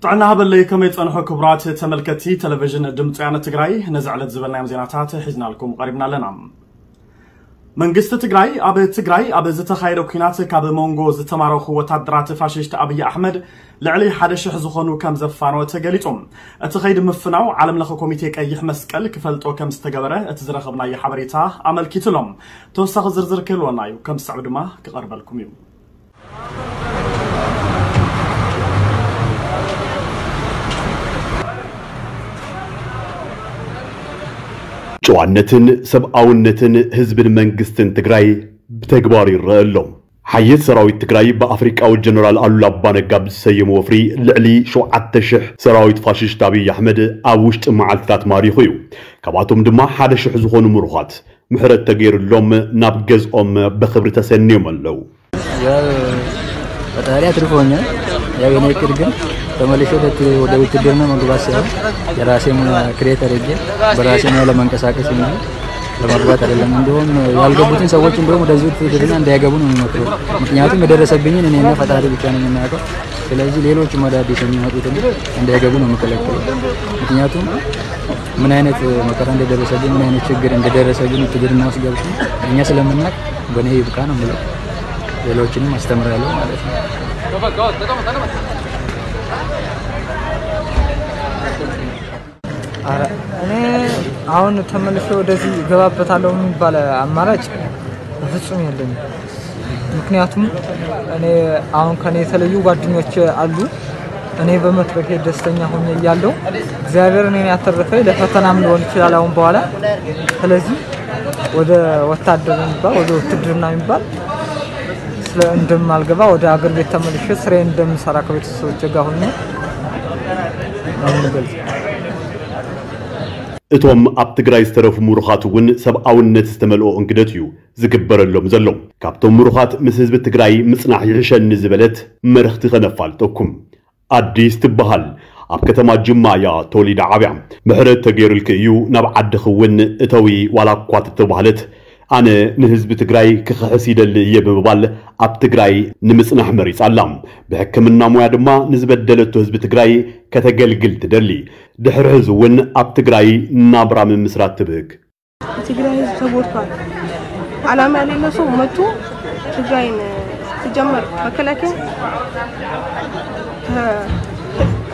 ጥዕና ሃበለይ፣ ከመይ ጸንሑ ክቡራት ተመልከትቲ ቴሌቪዥን ድምፂ ወያነ ትግራይ? ነዚ ዕለት ዝበልናዮም ዜናታት ሒዝናልኩም ቀሪብና ኣለና። መንግስቲ ትግራይ ኣብ ትግራይ ኣብ ዝተኻየደ ኲናት ካብ መንጎ ዝተማረኹ ወታደራት ፋሽስት ኣብይ ኣሕመድ ልዕሊ ሓደ ሽሕ ዝኾኑ ከም ዘፋነወ ተገሊጹ። እቲ ኸይዲ ምፍናው ዓለም ለኸ ኮሚቴ ቀይሕ መስቀል ክፈልጦ ከም ዝተገበረ እቲ ዝረኸብናዮ ሓበሬታ ኣመልኪቱ ኣሎ። ተወሳኺ ዝርዝር ክህልወና እዩ፣ ከም ዝስዕብ ድማ ክቐርበልኩም እዩ። ጨዋነትን ሰብኣውነትን ህዝብን መንግስትን ትግራይ ብተግባር ይረአ ኣሎ። ሓየት ሰራዊት ትግራይ ብኣፍሪቃዊ ጀነራል ኣሉላ ኣባነጋ ብዝሰየሞ ወፍሪ ልዕሊ ሸውዓተ ሽሕ ሰራዊት ፋሽስት ኣብይ ኣሕመድ ኣብ ውሽጢ መዓልትታት ማሪኹ እዩ። ካብኣቶም ድማ ሓደ ሽሕ ዝኾኑ ምሩኻት ምሕረት ተገይሩሎም ናብ ገዝኦም ብኽብሪ ተሰንዮም ኣለዉ። ያው ፈጣሪ አትርፎኛል። ያው የኔ እቅድ ግን ተመልሼ ወደ ውትድርና መግባት ሳይሆን የራሴ ሙያ ክሬት አድርጌ በራሴ ሙያ ለመንቀሳቀስ እንጂ ለመግባት አይደለም። እንደውም ያልገቡትን ሰዎች እንደውም ወደዚህ ውትድርና እንዳይገቡ ነው የሚመክረው። ምክንያቱም የደረሰብኝን እኔና ፈጣሪ ብቻ ነው የምናውቀው። ስለዚህ ሌሎችም አዳዲስ የሚመጡትን እንዳይገቡ ነው የምከለክለው። ምክንያቱም ምን አይነት መከራ እንደደረሰብኝ፣ ምን አይነት ችግር እንደደረሰብኝ ውትድርና ውስጥ ገብቼ እኛ ስለምናውቅ በእኔ ይብቃ ነው የምለው። ሌሎችንም አስተምራለሁ ማለት ነው። ኧረ እኔ አሁን ተመልሼ ወደዚህ እገባበታለሁ የሚባል አማራጭ በፍጹም የለኝም። ምክንያቱም እኔ አሁን ከኔ የተለዩ ጓደኞች አሉ። እኔ በመትረፌ ደስተኛ ሆኜ እያለሁ እግዚአብሔር እኔን ያተረፈኝ ለፈተናም ሊሆን ይችላል አሁን በኋላ። ስለዚህ ወደ ወታደር የሚባል ወደ ውትድርና የሚባል ስለ እንደማልገባ ወደ አገር ቤት ተመልሼ ስራዬን እንደምሰራ ከቤተሰቦቼ ጋር ሆኜ ነው የምገልጸው። እቶም ኣብ ትግራይ ዝተረፉ ምሩኻት እውን ሰብኣውነት ዝተመልኦ እንግደት እዩ ዝግበረሎም ዘሎ። ካብቶም ምሩኻት ምስ ህዝቢ ትግራይ ምጽናሕ ይሕሸኒ ዝበለት መርኽቲ ከነፋልጠኩም። ኣዲስ ትበሃል ኣብ ከተማ ጅማ እያ ተወሊዳ ዓብያ። ምሕረት ተገይሩልኪ እዩ ናብ ዓድኺ እውን እተዊ ዋላ እኳ ተተባህለት ኣነ ንህዝቢ ትግራይ ክኽሕስ ይደሊ እየ ብምባል ኣብ ትግራይ ንምጽናሕ መሪጻ ኣላ። ብሕክምና ሞያ ድማ ንዝበደለቶ ህዝቢ ትግራይ ከተገልግል ትደሊ። ድሕሪ ሕዚ እውን ኣብ ትግራይ ናብራ ምምስራት ትብህግ። የትግራይ ህዝብ ተጎድቷል። አላማ የሌለው ሰው መጥቶ ትግራይን ሲጀመር መከላከያ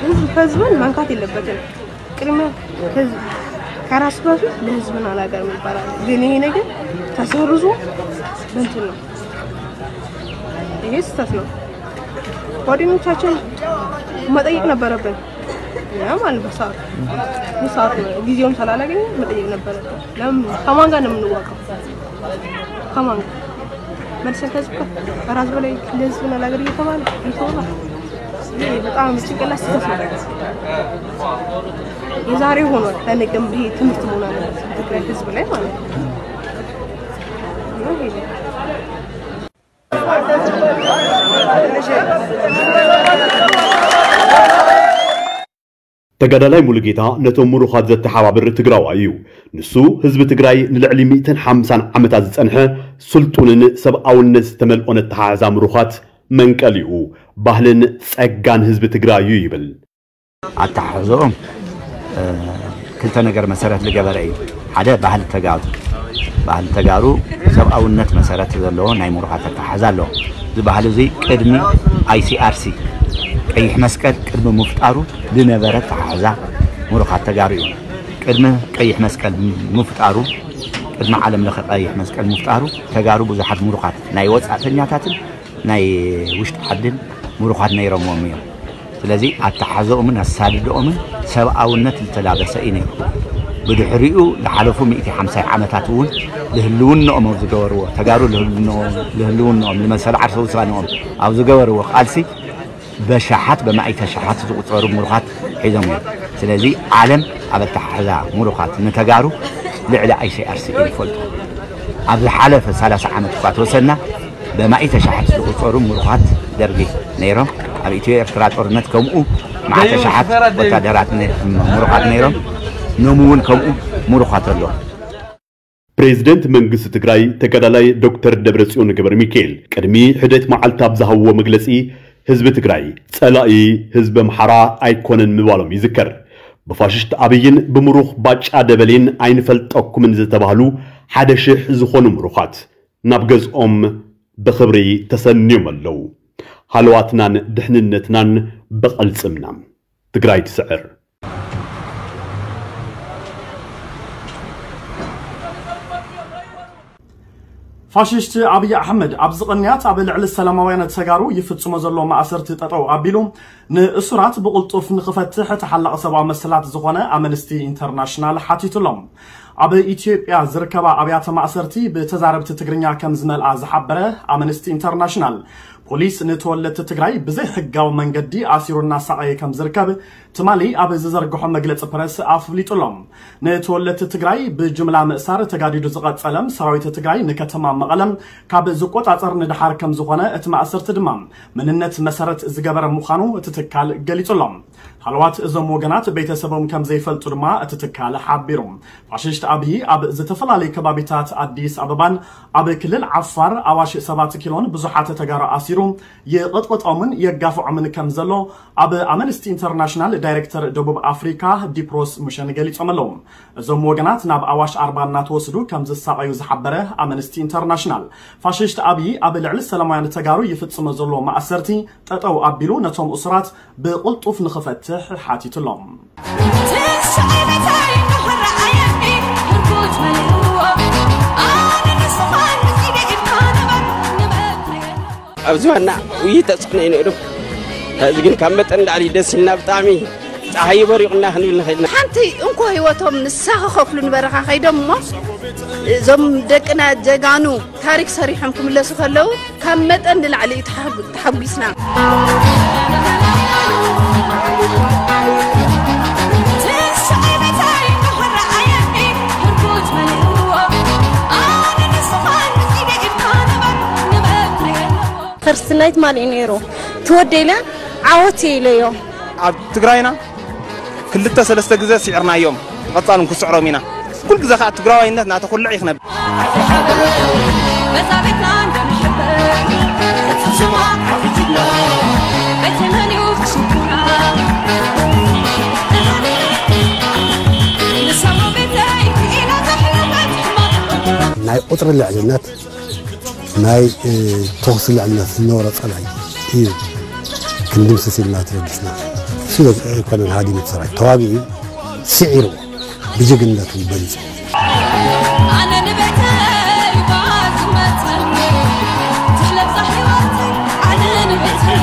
ህዝብ ከህዝብን መንካት የለበትም። ቅድሚያ ከራሱ በፊት ለህዝብና ለሀገር ይባላል። ግን ይሄ ነገር ተሰርዞ በእንትን ነው። ይሄ ስህተት ነው። ጓደኞቻችን መጠየቅ ነበረብን። ያ ማለት በሰዓቱ በሰዓቱ ጊዜውን ስላላገኘ መጠየቅ ነበረብን። ለምን ከማን ጋር ነው የምንዋቀው? ከማን ጋር መልሰን ከዚህ ጋር ከራስ በላይ ለህዝብና ለሀገር እየተባለ እየተወራ ይሄ በጣም ጭንቅላት ስህተት ነው። የዛሬ ሆኗል። ለነገም ይሄ ትምህርት መሆን አለበት ትግራይ ህዝብ ላይ ማለት ነው። ተጋዳላይ ሙሉጌታ ነቶም ምሩኻት ዘተሓባብር ትግራዋይ እዩ። ንሱ ህዝቢ ትግራይ ንልዕሊ ሚእትን ሓምሳን ዓመታት ዝጸንሐ ስልጡንን ሰብኣውነት ዝተመልኦን ኣተሓሕዛ ምሩኻት መንቀሊኡ ባህልን ጸጋን ህዝቢ ትግራይ እዩ ይብል። ኣተሓሕዘኦም ክልተ ነገር መሰረት ዝገበረ እዩ። ሓደ ባህሊ ተጋሩ፣ ባህሊ ተጋሩ ሰብኣውነት መሰረት ዘለዎ ናይ ምሩኻት ኣተሓሕዛ ኣለዎ። እዚ ባህሊ እዚ ቅድሚ ኣይሲኣርሲ ቀይሕ መስቀል ቅድሚ ምፍጣሩ ዝነበረ ኣተሓሕዛ ምሩኻት ተጋሩ እዩ። ቅድሚ ቀይሕ መስቀል ምፍጣሩ፣ ቅድሚ ዓለም ለኸ ቀይሕ መስቀል ምፍጣሩ ተጋሩ ብዙሓት ምሩኻት ናይ ወፃእተኛታትን ናይ ውሽጢ ዓድን ምሩኻት ነይሮምዎም እዮም። ስለዚ ኣተሓሕዘኦምን ኣሳድድኦምን ሰብኣውነት ዝተላበሰ እዩ ነይሩ። ብድሕሪኡ ዝሓለፉ ሚእቲ ሓምሳይ ዓመታት እውን ልህልውንኦም ኣብ ዝገበርዎ ተጋሩ ልህልውንኦም ልመሰል ዓርሰ ውሳንኦም ኣብ ዝገበርዎ ቃልሲ በሻሓት በማእተ ሻሓት ዝቑፀሩ ምሩኻት ሒዞም እዮም። ስለዚ ዓለም ኣብ ኣተሓሕዛ ምሩኻት ንተጋሩ ልዕሊ ኣይሲኣርሲ እዩ ዝፈልጦ። ኣብ ዝሓለፈ ሰላሳ ዓመት እኳ ተወሰና በማእተ ሻሓት ዝቑፀሩ ምሩኻት ደርጊ ነይሮም። ኣብ ኢትዮ ኤርትራ ጦርነት ከምኡ መዓተ ሻሓት ወታደራት ምሩኻት ነይሮም። ኖም እውን ከምኡ ምሩኻት ኣሎ። ፕሬዝደንት መንግስቲ ትግራይ ተጋዳላይ ዶክተር ደብረፅዮን ገብረ ሚካኤል ቅድሚ ሕደት መዓልቲ ኣብ ዝሃብዎ መግለፂ ህዝቢ ትግራይ ጸላኢ ህዝቢ ኣምሓራ ኣይኮነን ምባሎም ይዝከር። ብፋሽስት ኣብይን ብምሩኽ ባጫ ደበሌን ኣይንፈልጠኩምን ዝተባህሉ ሓደ ሽሕ ዝኾኑ ምሩኻት ናብ ገዝኦም ብኽብሪ ተሰንዮም ኣለዉ። ሃለዋትናን ድሕንነትናን ብቐልጽምና። ትግራይ ትስዕር። ፋሽስት ኣብይ ኣሕመድ ኣብዚ ቅንያት ኣብ ልዕሊ ሰላማውያን ተጋሩ ይፍጽሞ ዘሎ ማእሰርቲ ጠጠው ኣቢሉ ንእሱራት ብቕልጡፍ ንኽፈትሕ ተሓላቒ ሰብኣዊ መሰላት ዝኾነ ኣምነስቲ ኢንተርናሽናል ሓቲቱሎም። ኣብ ኢትዮጵያ ዝርከባ ኣብያተ ማእሰርቲ ብተዛረብቲ ትግርኛ ከም ዝመልኣ ዝሓበረ ኣምነስቲ ኢንተርናሽናል፣ ፖሊስ ንተወለድቲ ትግራይ ብዘይ ሕጋዊ መንገዲ ኣሲሩ እናሳቐየ ከም ዝርከብ ትማሊ ኣብ ዝዘርግሖ መግለፂ ፕረስ ኣፍሊጡ ኣሎ። ንተወለድቲ ትግራይ ብጅምላ ምእሳር ተጋዲዱ ዝቐጸለ ሰራዊት ትግራይ ንከተማ መቐለ ካብ ዝቆጻጸር ንደሓር ከም ዝኾነ እቲ ማእሰርቲ ድማ መንነት መሰረት ዝገበረ ምዃኑ እቲ ትካል ገሊጹ ኣሎ። ሃለዋት እዞም ወገናት ቤተሰቦም ከም ዘይፈልጡ ድማ እቲ ትካል ሓቢሩ። ፋሽስት ኣብይ ኣብ ዝተፈላለዩ ከባቢታት ኣዲስ ኣበባን ኣብ ክልል ዓፋር ኣዋሽ ሰባት ኪሎን ብዙሓት ተጋሩ ኣሲሩ የቐጥቕጦምን የጋፍዖምን ከም ዘሎ ኣብ ኣምነስቲ ኢንተርናሽናል ዳይሬክተር ደቡብ ኣፍሪካ ዲፕሮስ ሙሸን ገሊጾም ኣለዉ። እዞም ወገናት ናብ ኣዋሽ ኣርባ እናተወስዱ ከም ዝሳቐዩ ዝሓበረ ኣምነስቲ ኢንተርናሽናል፣ ፋሽስት ኣብይ ኣብ ልዕሊ ሰላማውያን ተጋሩ ይፍጽሞ ዘሎ ማእሰርቲ ጠጠው ኣቢሉ ነቶም እሱራት ብቕልጡፍ ንኽፈትሕ ሓቲቱ ኣሎ። ኣብዚ ዋና ውይይት ተጽዕኖ ይንእዱ። እዚ ግን ካብ መጠን ላዕሊ ደስ ኢልና ብጣዕሚ ጸሓይ በሪቑና ክንብል ንኽእል ኢና። ሓንቲ እንኮ ህይወቶም ንሳ ክኸፍሉ ንበረኻ ከይዶም እሞ እዞም ደቅና ጀጋኑ ታሪክ ሰሪሖም ክምለሱ ከለዉ ካብ መጠን ንላዕሊ እዩ ተሓጉ-፣ ተሓጒስና። ክርስትናይ ትማሊ እዩ ነይሩ። ትወደይ ኢለ ዓወት እየ ኢለዮ። ኣብ ትግራይና ክልተ ሰለስተ ግዜ ስዒርናዮም፣ ብቐጻል እውን ክስዕሮም ኢና። ኩል ግዜ ከዓ ትግራዋይነት እናተኹልዕ ይኽነብ። ናይ ቁፅሪ ልዕልነት፣ ናይ፣ እ፣ ተኹሲ ልዕልነት ዝነበሮ ጸላኢ እዩ ክንድምስስ ኢልና ተበጊስና። እሱ ኣይኮነን ሃዲሙ እቲ ሰራዊት፣ ተዋጊኡ እዩ፣ ስዒርዎ፣ ብጅግንነቱ በሊጹ። ኣነ ንቤተይ እባ ዝመጸኒ፣ ትሕለብ ዛ ህይወተይ፣ ኣነ ንቤተይ።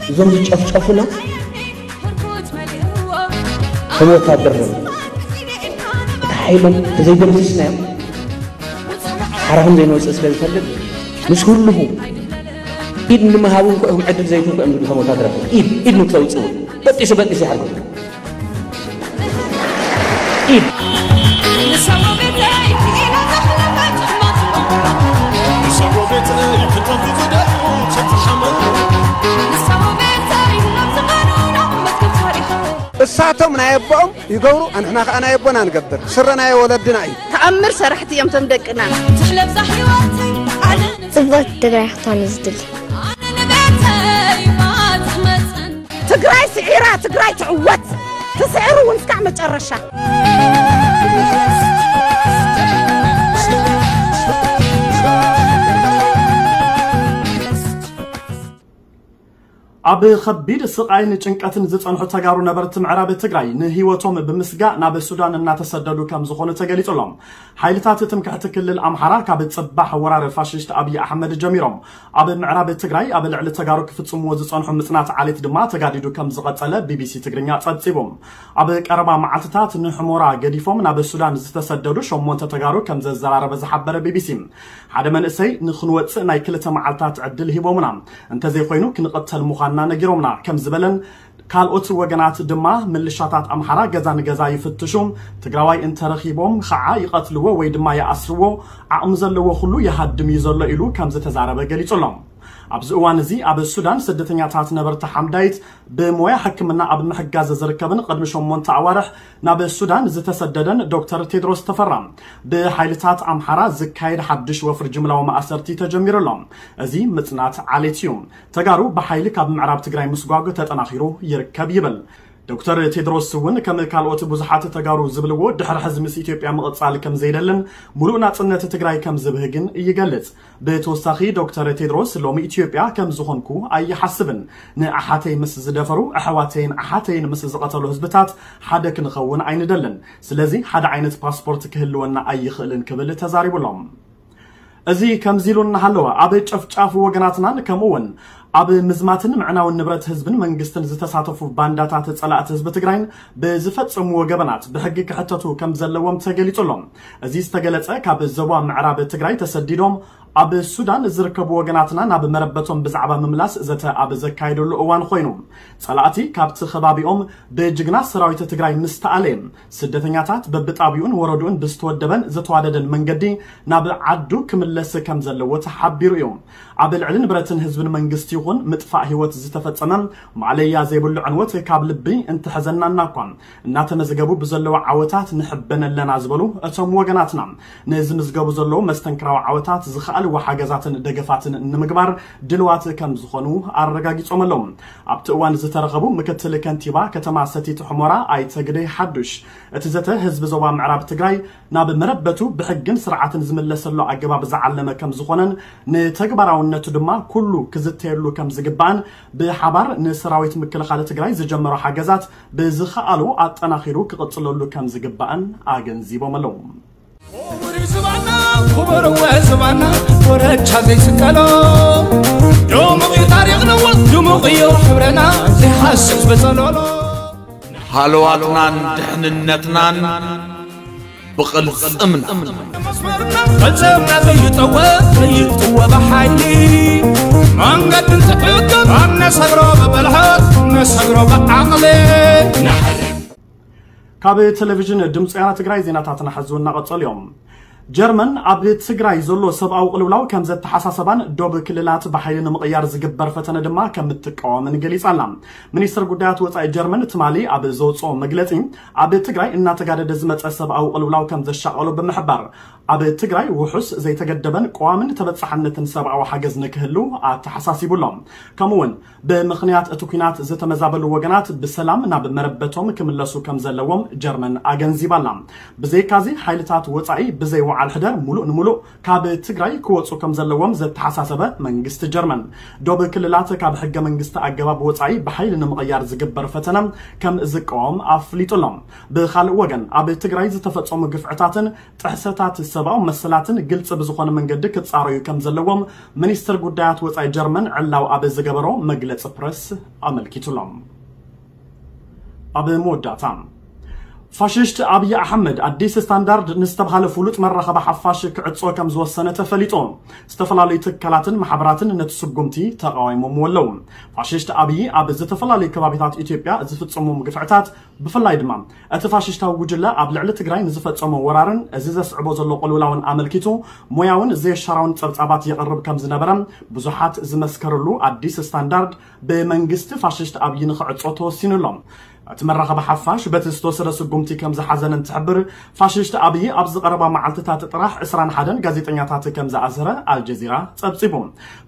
እዞም ዝጨፍጨፉና ከም ወታደር እዮም። እቲ ሓይሎም ተዘይደምሲስናዮም ሓራኹም ዘይንወፅእ ስለ ዝፈልጥ ምስ ህልኹ ኢድ ንምሃብ እንኳ ኢኹም ዕድል ዘይትህቡ እዮም ዝብሉ። ከም ወታደራት ኢድ፣ ኢድ ንክተውፅኡ በጢሱ በጢሱ ይሓርኩም። ኢድ። እሳቶም ናይ ኣቦኦም ይገብሩ፣ ኣንሕና ከዓ ናይ ኣቦና ንገብር። ስረ ናይ ወለድና እዩ። ተኣምር ሰራሕቲ እዮም እቶም ደቅና። ትሕለብ ዛ ህይወተይ ኣነ ጽብቕቲ ትግራይ ክትኮን እዩ ዝድሊ። ኣነ ንቤተይ እባ ትመጽን። ትግራይ ስዒራ፣ ትግራይ ትዕወት። ትስዕር እውን እስካዕ መጨረሻ። ኣብ ከቢድ ስቓይን ጭንቀትን ዝጸንሑ ተጋሩ ነበርቲ ምዕራብ ትግራይ ንህይወቶም ብምስጋእ ናብ ሱዳን እናተሰደዱ ከም ዝኾኑ ተገሊጹ ኣሎ። ሓይልታት ትምክሕቲ ክልል ኣምሓራ ካብ ጽባሕ ወራር ፋሽስት ኣብይ ኣሕመድ ጀሚሮም ኣብ ምዕራብ ትግራይ ኣብ ልዕሊ ተጋሩ ክፍጽምዎ ዝጸንሑ ምጽናት ዓሌት ድማ ተጋዲዱ ከም ዝቐጸለ ቢቢሲ ትግርኛ ጸብጺቡ። ኣብ ቀረባ መዓልትታት ንሕሞራ ገዲፎም ናብ ሱዳን ዝተሰደዱ ሸሞንተ ተጋሩ ከም ዘዘራረበ ዝሓበረ ቢቢሲ፣ ሓደ መንእሰይ ንኽንወጽእ ናይ ክልተ መዓልታት ዕድል ሂቦምና፣ እንተዘይኮይኑ ክንቕተል ምዃንና ነጊሮምና ከም ዝበለን ካልኦት ወገናት ድማ ምልሻታት ኣምሓራ ገዛ ንገዛ ይፍትሹ፣ ትግራዋይ እንተረኺቦም ኸዓ ይቐትልዎ ወይ ድማ ይኣስርዎ፣ ዓቕሚ ዘለዎ ኩሉ ይሃድም እዩ ዘሎ ኢሉ ከም ዝተዛረበ ገሊጹ ኣሎ። ኣብዚ እዋን እዚ ኣብ ሱዳን ስደተኛታት ነበርቲ ሓምዳይት ብሞያ ሕክምና ኣብ ምሕጋዝ ዝርከብን ቅድሚ ሸሞንተ ኣዋርሕ ናብ ሱዳን ዝተሰደደን ዶክተር ቴድሮስ ተፈራ ብሓይልታት ኣምሓራ ዝካየድ ሓድሽ ወፍሪ ጅምላዊ ማእሰርቲ ተጀሚሩ ኣሎ። እዚ ምጽናት ዓሌት እዩ። ተጋሩ ብሓይሊ ካብ ምዕራብ ትግራይ ምስጓግ ተጠናኺሩ ይርከብ ይብል። ዶክተር ቴድሮስ እውን ከም ካልኦት ብዙሓት ተጋሩ ዝብልዎ ድሕሪ ሕዚ ምስ ኢትዮጵያ ምቕጻል ከም ዘይደልን ሙሉእ ናጽነት ትግራይ ከም ዝብህግን ይገልጽ። ብተወሳኺ ዶክተር ቴድሮስ ሎሚ ኢትዮጵያ ከም ዝኾንኩ ኣይሓስብን። ንኣሓተይ ምስ ዝደፈሩ ኣሕዋተይን ኣሓተይን ምስ ዝቐተሉ ህዝብታት ሓደ ክንኸውን ኣይንደልን። ስለዚ ሓደ ዓይነት ፓስፖርት ክህልወና ኣይኽእልን ክብል ተዛሪቡሎም። እዚ ከምዚ ኢሉ እናሃለወ ኣብ ጨፍጫፍ ወገናትናን ከምኡ እውን ኣብ ምዝማትን ምዕናውን ንብረት ህዝብን መንግስትን ዝተሳተፉ ባንዳታት ጸላእቲ ህዝቢ ትግራይን ብዝፈጸምዎ ገበናት ብሕጊ ክሕተቱ ከም ዘለዎም ተገሊጹ ኣሎ። እዚ ዝተገለጸ ካብ ዞባ ምዕራብ ትግራይ ተሰዲዶም ኣብ ሱዳን ዝርከቡ ወገናትና ናብ መረበቶም ብዛዕባ ምምላስ ዘተ ኣብ ዘካየደሉ እዋን ኮይኑ ጸላእቲ ካብቲ ከባቢኦም ብጅግና ሰራዊት ትግራይ ምስ ተኣለየ ስደተኛታት በብጣቢኡን ወረድኡን ብዝተወደበን ዝተዋደደን መንገዲ ናብ ዓዱ ክምለስ ከም ዘለዎ ተሓቢሩ እዩ። ኣብ ልዕሊ ንብረትን ህዝብን መንግስቲ ይኹን ምጥፋእ ህይወት ዝተፈጸመ ማዕለያ ዘይብሉ ዕንወት ካብ ልቢ እንተሐዘናና እኳ እናተመዝገቡ ብዘለዉ ዓወታት ንሕበን ኣለና ዝበሉ እቶም ወገናትና ንዝምዝገቡ ዘለዉ መስተንክራዊ ዓወታት ዝኸኣልዎ ሓገዛትን ደገፋትን ንምግባር ድልዋት ከም ዝኾኑ ኣረጋጊጾም ኣለዉ። ኣብቲ እዋን ዝተረኸቡ ምክትል ከንቲባ ከተማ ሰቲት ሑመራ ኣይተ ግደይ ሓዱሽ እቲ ዘተ ህዝቢ ዞባ ምዕራብ ትግራይ ናብ መረበቱ ብሕግን ስርዓትን ዝምለሰሉ ኣገባብ ዝዓለመ ከም ዝኾነን ንተግባራውነቱ ድማ ኩሉ ክዝተየሉ ከም ዝግባእን ብሓባር ንሰራዊት ምክልኻል ትግራይ ዝጀመሮ ሓገዛት ብዝኸኣሉ ኣጠናኺሩ ክቕፅለሉ ከም ዝግባእን ኣገንዚቦም ኣለዉ። ክቡር ዝባና ክቡር ወ ዝባና ወረቻ ዘይስቀሎ ድሙቕ እዩ ታሪኽና ድሙቕ እዩ ሕብረና ዘይሃስስ በጸሎሎ ሃለዋትናን ድሕንነትናን ብቕልጽምና መስመርና ፈጸምና ዘይጠወ ዘይጥወ ብሓይሊ መንገዲ እንትሕግር ኣብ ነሰግሮ ብብልሓት ነሰግሮ ብዓቕሊ ንሓሊ ካብ ቴሌቪዥን ድምፂ ወያነ ትግራይ ዜናታትና ሕዚ እናቐጸሉ እዮም። ጀርመን ኣብ ትግራይ ዘሎ ሰብኣዊ ቅልውላው ከም ዘተሓሳሰባን ዶብ ክልላት ብሓይሊ ንምቕያር ዝግበር ፈተነ ድማ ከም እትቃወምን ገሊጻ ኣላ። ሚኒስትር ጉዳያት ወፃኢ ጀርመን ትማሊ ኣብ ዘውፅኦ መግለፂ ኣብ ትግራይ እናተጋደደ ዝመፀ ሰብኣዊ ቅልውላው ከም ዘሻቐሎ ብምሕባር ኣብ ትግራይ ውሑስ ዘይተገደበን ቀዋምን ተበፃሕነትን ሰብኣዊ ሓገዝ ንክህሉ ኣተሓሳሲቡ ኣሎ። ከምኡ እውን ብምኽንያት እቲ ኲናት ዝተመዛበሉ ወገናት ብሰላም ናብ መረበቶም ክምለሱ ከም ዘለዎም ጀርመን ኣገንዚባ ኣላ። ብዘይካዚ ሓይልታት ወፃኢ ብዘይ ወዓል ሕደር ሙሉእ ንሙሉእ ካብ ትግራይ ክወፁ ከም ዘለዎም ዘተሓሳሰበ መንግስቲ ጀርመን ዶብ ክልላት ካብ ሕገ መንግስቲ ኣገባብ ወፃኢ ብሓይሊ ንምቕያር ዝግበር ፈተነ ከም ዝቃወም ኣፍሊጡ ኣሎ። ብኻልእ ወገን ኣብ ትግራይ ዝተፈፀሙ ግፍዕታትን ጥሕሰታት ሰብኣዊ መሰላትን ግልፂ ብዝኾነ መንገዲ ክፃረዩ ከም ዘለዎም ሚኒስትር ጉዳያት ወፃኢ ጀርመን ዕላው ኣብ ዝገበሮ መግለፂ ፕረስ ኣመልኪቱ ኣሎ። ኣብ መወዳእታ ፋሽስት ኣብይ ኣሕመድ ኣዲስ ስታንዳርድ ንዝተብሃለ ፍሉጥ መራኸቢ ሓፋሽ ክዕጾ ከም ዝወሰነ ተፈሊጡ። ዝተፈላለዩ ትካላትን ማሕበራትን ነቲ ስጉምቲ ተቃዊሞምዎ ኣለዉ። ፋሽስት ኣብይ ኣብ ዝተፈላለዩ ከባቢታት ኢትዮጵያ ዝፍጽሞም ግፍዕታት ብፍላይ ድማ እቲ ፋሽስታዊ ጉጅለ ኣብ ልዕሊ ትግራይ ንዝፈጸሞ ወራርን እዚ ዘስዕቦ ዘሎ ቅልውላውን ኣመልኪቱ ሞያውን ዘየሻራውን ጸብጻባት የቕርብ ከም ዝነበረ ብዙሓት ዝመስከርሉ ኣዲስ ስታንዳርድ ብመንግስቲ ፋሽስት ኣብይ ንኽዕጾ ተወሲኑ ኣሎ። እቲ መራኸቢ ሓፋሽ በቲ ዝተወሰደ ስጉምቲ ከም ዝሓዘነ እንትሕብር ፋሽስት ኣብይ ኣብዚ ቀረባ መዓልትታት ጥራሕ ዕስራን ሓደን ጋዜጠኛታት ከም ዝኣሰረ ኣልጀዚራ ጸብጺቡ።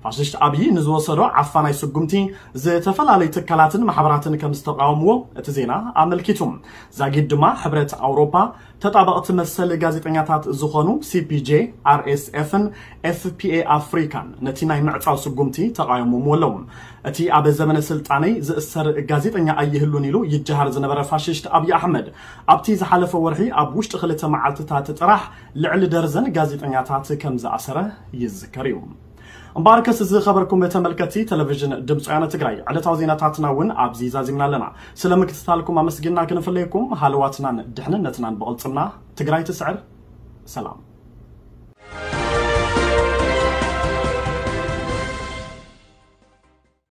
ፋሽስት ኣብይ ንዝወሰዶ ዓፋናይ ስጉምቲ ዝተፈላለዩ ትካላትን ማሕበራትን ከም ዝተቃወምዎ እቲ ዜና ኣመልኪቱ። ዛጊድ ድማ ሕብረት ኣውሮፓ ተጣበቕቲ መሰል ጋዜጠኛታት ዝኾኑ CPJ፣ RSF-ን FPA ኣፍሪካን ነቲ ናይ ምዕጻው ስጉምቲ ተቃይሞምዎ ኣለዉ። እቲ ኣብ ዘመነ ስልጣነይ ዝእሰር ጋዜጠኛ ኣይህሉን ኢሉ ይጀሃር ዝነበረ ፋሽስት ኣብይ ኣሕመድ ኣብቲ ዝሓለፈ ወርሒ ኣብ ውሽጢ ክልተ መዓልትታት ጥራሕ ልዕሊ ደርዘን ጋዜጠኛታት ከም ዝኣሰረ ይዝከር እዩ። እምበኣርከስ ዝኸበርኩም ተመልከትቲ ቴሌቪዥን ድምፂ ወያነ ትግራይ ዕለታዊ ዜናታትና እውን ኣብዚ ዛዚምና ኣለና። ስለ ምክትታልኩም ኣመስጊንና ክንፍለየኩም ሃለዋትናን ድሕንነትናን ብቕልፅምና ትግራይ ትስዕር። ሰላም።